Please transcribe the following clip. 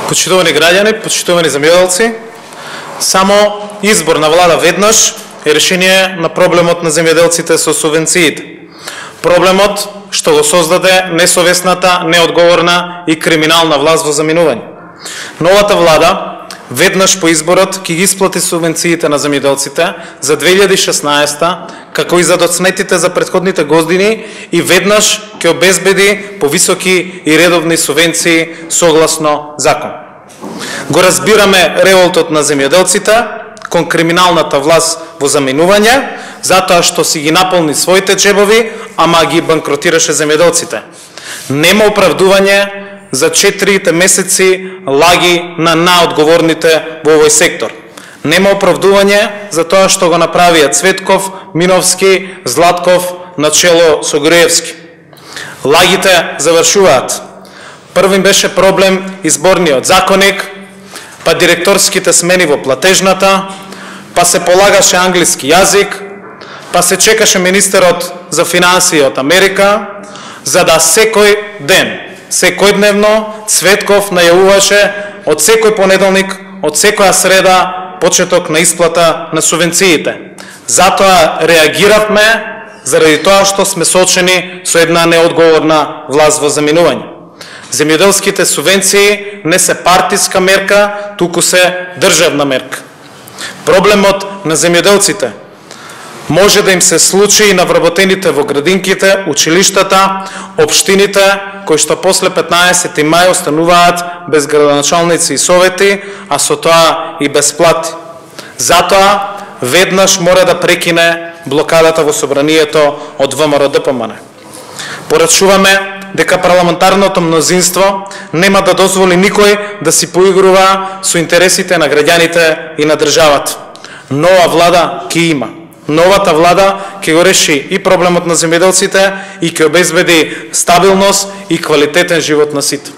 Почитувани граѓани, почитувани земјоделци, само избор на влада веднаш е решение на проблемот на земјоделците со субвенциите. Проблемот што го создаде несовесната, неодговорна и криминална власт во заминување. Новата влада веднаш по изборот ќе ги исплати субвенциите на земјоделците за 2016 како и за доцнетите за претходните години и веднаш ќе обезбеди повисоки и редовни субвенции согласно закон. Го разбираме револтот на земјоделците кон криминалната власт во заминување, затоа што си ги наполни своите джебови, ама ги банкротираше земјоделците. Нема оправдување за 4 месеци лаги на наодговорните во овој сектор. Нема оправдување за тоа што го направија Цветков, Миновски, Златков начело со Груевски. Лагите завршуваат. Првим беше проблем изборниот законник, па директорските смени во платежната, па се полагаше англиски јазик, па се чекаше министерот за финансии од Америка, за да секој ден, секојдневно Цветков најавуваше од секој понеделник, од секоја среда почеток на исплата на субвенциите. Затоа реагиравме заради тоа што сме соочени со една неодговорна власт во заминување. Земјоделските субвенции не се партиска мерка, туку се државна мерка. Проблемот на земјоделците може да им се случи и на вработените во градинките, училиштата, општините, кои што после 15 мај остануваат без градоначалници и совети, а со тоа и без плати. Затоа веднаш мора да прекине блокадата во собранието од ВМРО-ДПМН. Порачуваме дека парламентарното мнозинство нема да дозволи никој да си поигрува со интересите на граѓаните и на државата. Нова влада ќе има. Новата влада ќе го реши и проблемот на земјоделците и ќе обезбеди стабилност и квалитетен живот на сите.